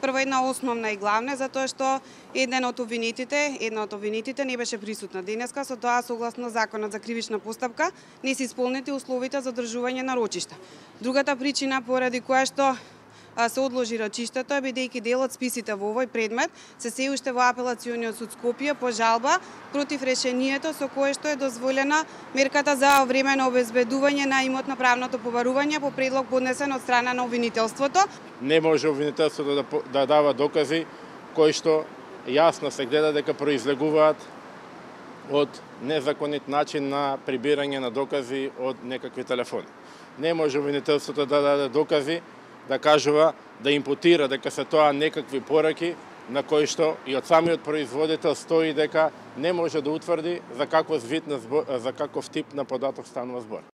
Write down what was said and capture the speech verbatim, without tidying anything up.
Прво една основна и главна, затоа што еден од обвинетите, една од обвинетите не беше присутна денеска, со тоа согласно Законот за кривична постапка не се исполнети условите за одржување на рочишта. Другата причина поради која што се одложи рочиштето е бидејќи дел од списите во овој предмет се се уште во апелациониот суд Скопје по жалба против решението со кое што е дозволена мерката за временно обезбедување на имотно-правното побарување по предлог поднесен од страна на обвинителството. Не може обвинителството да, да дава докази кои што јасно се гледа дека произлегуваат од незаконит начин на прибирање на докази од некакви телефони. Не може обвинителството да даде докази да кажува, да импутира дека се тоа некакви пораки на кои што и од самиот производител стои дека не може да утврди за каков вид на збор, за каков тип на податок станува збор.